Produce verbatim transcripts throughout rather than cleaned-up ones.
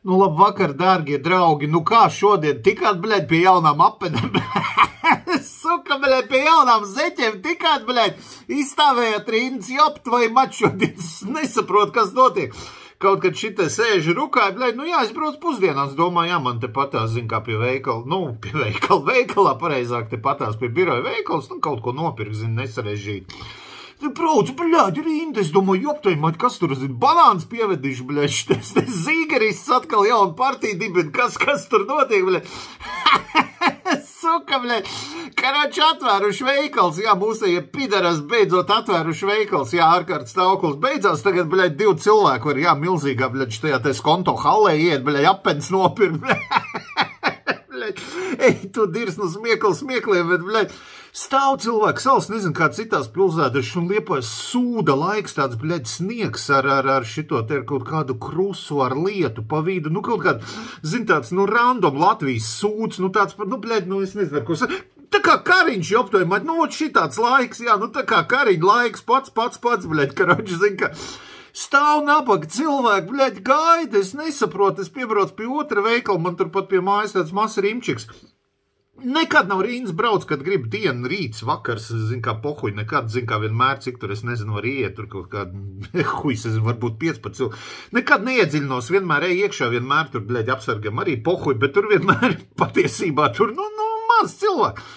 Nu, labvakar, dārgie draugi, nu kā šodien tikāt, bļaļ, pie jaunām apenēm, suka, bļaļ, pie jaunām zeķiem tikāt, bļaļ, izstāvējāt rindas, jopt vai mač šodien, nesaprot, kas notiek. Kaut kad šitai sēži rukāja, bļaļ, nu jā, es braucu pusdienās, domāju, jā, man te patās, zin kā pie veikala, nu, pie veikala, veikalā, pareizāk te patās pie biroja veikals, nu, kaut ko nopirkt, zin, nesarežģīt. Brauc, bļaļ, rinda, es domāju, joptai, maļ, kas tur, zin, banāns pievedīšu, bļaļ, šitais te zīgerists atkal jaunu partiju dibina, kas, kas tur notiek, bļaļ. Suka, bļaļ, karoči atvēruši veikals, jā, mūsējie pidaras beidzot atvēruši veikals, jā, ārkārt stāvoklis beidzās, tagad, bļaļ, divi cilvēki var, jā, milzīgā, bļaļ, štajā te skonto hallē iet, bļaļ, apens nopirkt, bļaļ, ej, tu dirs no smiekli smiekliem, bet, bļaļ, stāv cilvēks, salas, nezinu, kā citās pilsētas, un Liepājas sūda laiks, tāds, bļaļ, sniegs ar, ar, ar šito te ar kaut kādu krusu, ar lietu pa vidu, nu, kaut kādu, zin, tāds, nu, random Latvijas sūds, nu, tāds, nu, bļaļ, nu, es nezinu, ko es... Tā kā kariņš joptoja, maļ, nu, šitāds laiks, jā, nu, tā kā kariņ laiks, pats, pats, pats, bļaļ, karoči, zin, ka... Stāv nabaga cilvēki, bļaļ, gaida, es nesaprotu, es piebraucu pie otra veikala, man turpat pie mājas tāds mazs rimčiks. Nekad nav rīns brauc, kad grib dienu, rīts, vakars, zin kā pohuļ, nekad, zin kā vienmēr, cik tur, es nezinu, var iet, tur kaut kāda, huis, es zinu, varbūt piecpadsmit cilvēki. Nekad neiedziļinos, vienmēr ej iekšā, vienmēr tur, bļaļ, apsargam arī pohuļ, bet tur vienmēr patiesībā tur, nu, nu, maz cilvēki.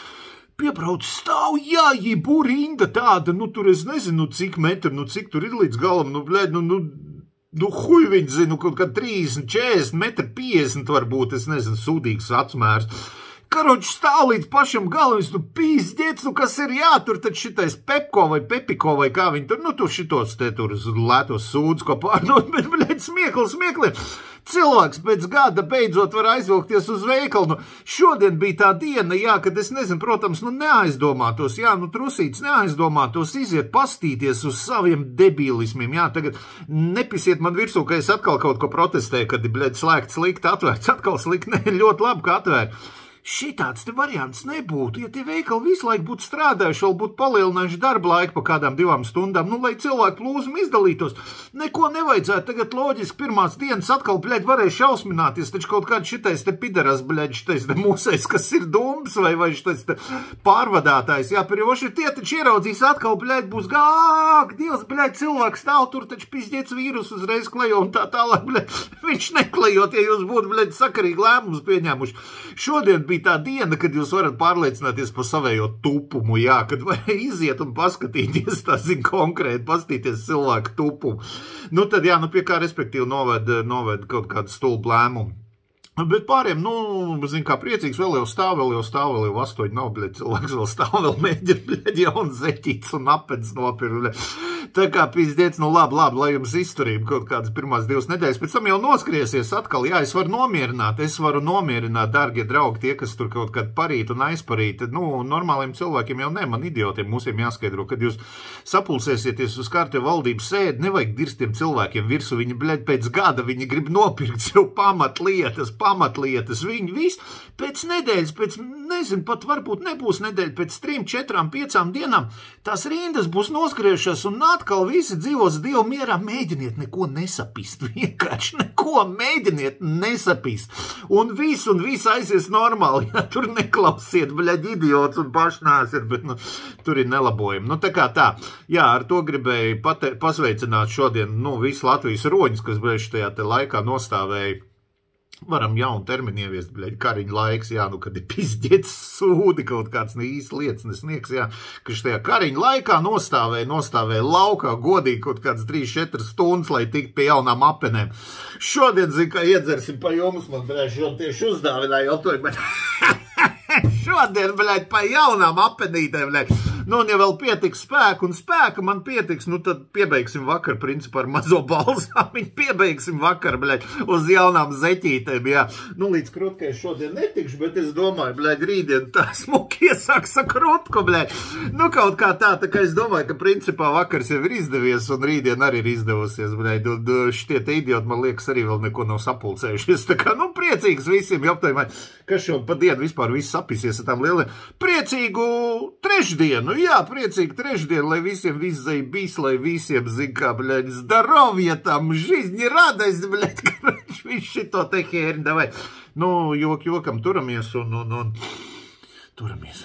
Piebrauc stāv, jā, jibu rinda tāda, nu, tur es nezinu, cik metru, nu, cik tur ir līdz galam, nu, bļaļ, nu, nu, nu, huj viņi zinu, kaut kā trīsdesmit, četrdesmit metri, piecdesmit varbūt, es nezinu, sūdīgs atsmērs. Karoči stāv līdz pašam galam, es, nu, pīzdiec, nu, kas ir jātur, tad šitais Pepko vai Pepiko vai kā viņi tur, nu, tu šitos te tur lētos sūdus, ko pārdot, bet, bļaļ, smiekli, smiekli. Cilvēks pēc gada beidzot var aizvilkties uz veikalu, nu, šodien bija tā diena, jā, kad es nezinu, protams, nu, neaizdomātos, jā, nu, trusīts neaizdomātos, iziet pastīties uz saviem debīlismiem, jā, tagad nepisiet man virsū, ka es atkal kaut ko protestēju, kad, bļaļ, slēgt slikt, atvērts, atkal slikt, ne, ļoti labi, ka atvēr. Šitāds te variants nebūtu, ja tie veikali visu laiku būtu strādājuši, vēl būtu palielinājuši darba laiku pa kādām divām stundām, nu, lai cilvēku plūzumi izdalītos. Neko nevajadzētu, tagad loģiski pirmās dienas atkal, bļaļ, varēja šausmināties, taču kaut kāds šitais te pidaras, bļaļ, šitais te mūsais, kas ir dumbs vai, vai šitais te pārvadātājs, jā, perjoši tie taču ieraudzīs atkal, bļaļ, būs gāk, Dievs, bļaļ, cilvēks stāv tur, taču pizdiec vīrus uzreiz klejo un tā tālāk, bļaļ, viņš neklejot, ja jūs būtu, bļaļ, sakarīgi lēmumus pieņēmuši. Šodien bija tā diena, kad jūs varat pārliecināties par savējo tupumu, jā, kad var iziet un paskatīties, tā zin, konkrēti, paskatīties cilvēku tupumu. Nu, tad, jā, nu, pie kā respektīvi noved, noved kaut kādu stulbu lēmumu. Bet pāriem, nu, zin kā priecīgs, vēl jau stāv, vēl jau stāv, vēl jau astoņi nav, bļaļ, cilvēks vēl stāv, vēl mēģina, bļaļ, jaun zeķīts un apens nopir, bļaļ. Tā kā pizdiec, nu labi, labi, lai jums izturība kaut kādas pirmās divas nedēļas, pēc tam jau noskriesies atkal, jā, es varu nomierināt, es varu nomierināt, dārgie draugi, tie, kas tur kaut kad parīt un aizparīt, nu, normāliem cilvēkiem jau ne, man idiotiem mūsiem jāskaidro, kad jūs sapulsēsieties uz kārtē valdības sēdi, nevajag dirstiem cilvēkiem virsu, viņi, bļaļ, pēc gada, viņi grib nopirkt sev pamatlietas, pamatlietas, viņi viss pēc nedēļas, pēc, nezinu, pat varbūt nebūs nedēļa, pēc trim, četrām, piecām dienām, tās rindas būs noskriejušās un atkal visi dzīvos Dievu mierā, mēģiniet neko nesapist, vienkārši neko mēģiniet nesapist, un viss, un viss aizies normāli, ja tur neklausiet, bļaļ, idiots un pašnāsiet, bet, nu, tur ir nelabojumi. Nu, tā kā tā, jā, ar to gribēju pate, pasveicināt šodien, nu, visu Latvijas roņus, kas, bļaļ, šajā te laikā nostāvēja. Varam jaunu terminu ieviest, bļaļ, kariņu laiks, jā, nu, kad ir pizdiec sūdi, kaut kāds īsti lietas nesniegs, jā, ka šajā kariņu laikā nostāvēja, nostāvēja laukā godīgi kaut kāds trīs četras stundas, lai tiktu pie jaunām apenēm. Šodien, zin, kā iedzersim pa jums, man, bļaļ, šodien tieši uzdāvināja, jau bet šodien, bļaļ, pa jaunām apenītēm, bļaļ. Nu, un ja vēl pietiks spēku un spēka man pietiks, nu, tad piebeigsim vakar, principā, ar mazo balzāmiņu, piebeigsim vakar, bļaļ, uz jaunām zeķītēm, jā. Nu, līdz krutkai šodien netikšu, bet es domāju, bļaļ, rītdien tā smuki iesāks ar krutku, bļaļ. Nu, kaut kā tā, tā kā es domāju, ka principā vakars jau ir izdevies, un rītdien arī ir izdevusies, bļaļ. Un šitie te idioti, man liekas, arī vēl neko nav sapulcējušies. Tā kā, nu, priecīgs visiem, joptojumai, kas šo pa dienu vispār viss sapīsies ar tām lieliem. Priecīgu trešdienu! Jā, priecīgi trešdien, lai visiem viszai bijis, lai visiem, zin kā, bļaļ, zdarovja tam, жизни, радость, bļaļ, Viss šito te hērni, davai. Nu, jok, jokam, turamies un, un, un, turamies.